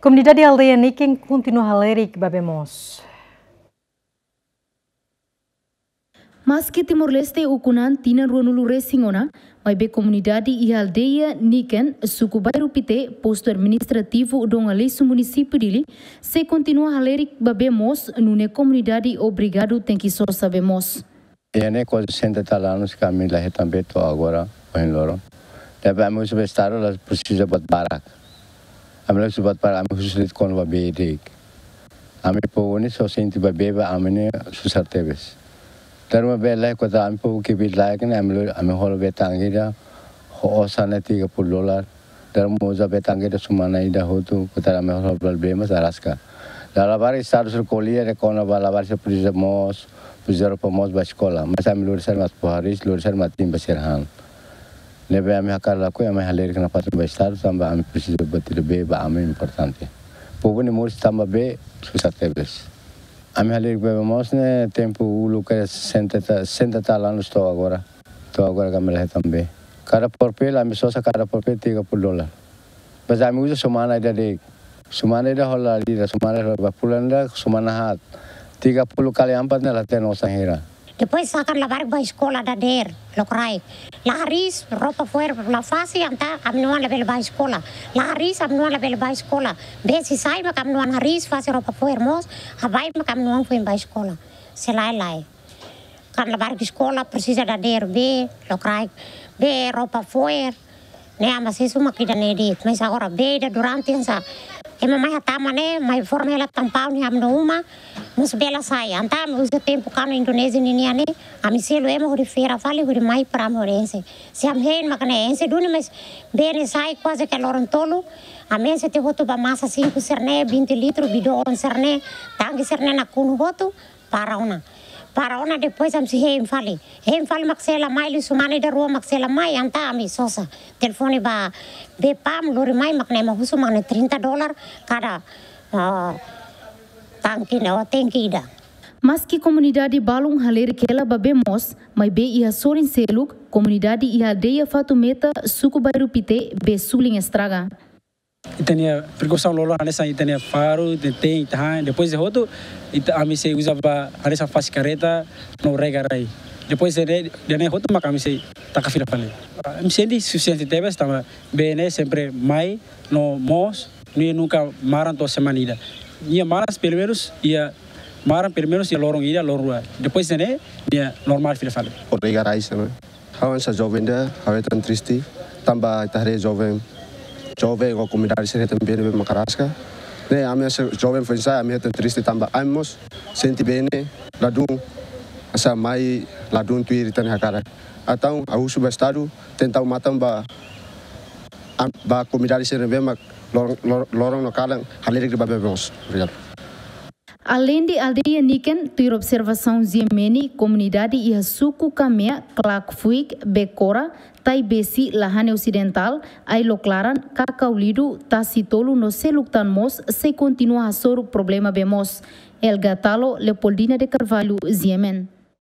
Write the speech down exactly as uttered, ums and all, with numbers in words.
Komunidade aldeia Niken kontinua halerik ba bee moos. Maski Timor-Leste ukun an tinan ruanulu resin ona, maibé komunidade iha aldeia Niken, suku Bairru Pité, postu administrativu Dom Aleixo, munisípiu Dili, sei kontinua halerik ba bee moos, nune'e komunidade obrigadu tenke sosa bee moos. Iha ne'e kuaze sessenta e tal anos ke ami la hetan bee to'o agora, ohin loron. Tanba ami husu ba Estadu, la presiza buat barak. Ami la husu buat barak, ami husu de'it kona-ba bee de'it. Ami povu ne'e só sente ba bee ba ami ne'e susar tebes. Tanba bee lae, kota ami povu kbiit-laek ne'e, ami lo, ami hola bee tanke ida, ho osan ne'e tiga puluh dolar. Tanba uza bee tanke ida semana ida hotu, kota ami hola bee mós araska. Labarik Estadu sira ko'alia de'it kona-ba labarik sira presiza moos, presiza roupa moos ba eskola. Mas ami lori sira mak fó hariis, lori sira mak timbun ba sira han. Ne'ebé ami hakarak lakohi, ami halerik nafatin ba Estadu, tanba ami presiza buat ida bee ba ami importante. Povu ne'e moris tanba bee susar tebes. Ami halerik ba bee moos ne'e tempu uluk ke sessenta, sessenta tal anos to'o agora. To'o agora ke ami la hetan bee. Kada porpel, ami sosa kada porpel tiga puluh dolar. Mas ami uza semana ida de'it. Semana ida hola ida, semana hola ba fulan ida, semana haat. Tiga puluh kali empat ne'e la hatene osan hira. Depois sira hakarak labarik ba eskola dadeer, lokraik. La hariis, roupa fo'er la fase, entaun ami-nia oan labele ba eskola. La hariis, ami-nia oan labele ba eskola. Bee sei sai mak ami-nia oan hariis, fase roupa fo'er moos, habai mak ami-nia oan foin ba eskola. Se lae, lae. Kan labarik eskola presiza dadeer bee, lokraik, bee, roupa fo'er. Ne'e ami sei husu mak ida-ne'e de'it. Mas agora bee ida durante hanesan ema mai hatama ne'e, mai forma hela tampau ne'e ami-nia uma, mós bee la sai. Entaun ami uza tempu kanu Indonézia ninian ne'e, ami selu ema hodi feira fali, hodi mai para ami hodi enxe. Se ami hein mak ne'e enxe duni, mas bee ne'e sai kuaze ke loron tolu, ami enxe tiha hotu ba masa sinku sira-ne'e, vinte litru, bidon sira-ne'e, tanke sira-ne'e nakonu hotu, para ona. Para ona depois ami sei hein fali. Hein fali mak sei la mai, liu semana ida rua mak sei la mai, entaun ami sosa. Telefone ba bee PAM, lori mai mak ne'e ema husu mak ne'e trinta dolar kada, ah, tanke ne'e, ou tanke ida. Maski komunidade balun halerik hela ba bee moos, maibé iha sorin seluk, komunidade iha aldeia Fatumeta, suku Bairru Pité, bee sulin estraga. Ita-nia prekausaun loloos hanesan ita-nia faru, ita-nia teen, ita han. Depois de hotu, ita, ami sei uza ba hanesan fase kareta no rega rai. Depois de, de ne'e hotu mak ami sei taka fila fali. Ami sente sufisiente tebes, tanba bee ne'e sempre mai no moos, nia nunka maran to'o semana ida. Nia maran pelumenus iha, maran pelumenus iha loron ida, loron rua. Depois de ne'e, nia normál fila fali. Obrigadu, Raisa, né? Ha'u hanesan joven ida, ha'u hetan triste, tanba ita haree joven, joven ou komunidade sira hetan bee ne'ebé mak araska. Ne'e ami hanesan joven foin-sa'e, ami hetan triste tanba ami mós sente bee ne'e ladún, hanesan mai ladún tuir ita-nia hakarak. Entaun ha'u husu ba Estadu, tenta matan ba, am-, ba komunidade sira ne'ebé mak loron, lor-, loron no kalan halerik ba bee moos. Obrigadu. Aleinde aldeia Niken, tuir observasaun G M N, komunidade iha suku Kamea, Klakfuik, Bekora, Taibesi, Lahane Osidentál, Ailok Laran, Kakaulidu, Tasi Tolu no seluk tan mós sei kontinua hasoru problema bee moos. Elga Talo, Leopoldina de Carvalho, G M N.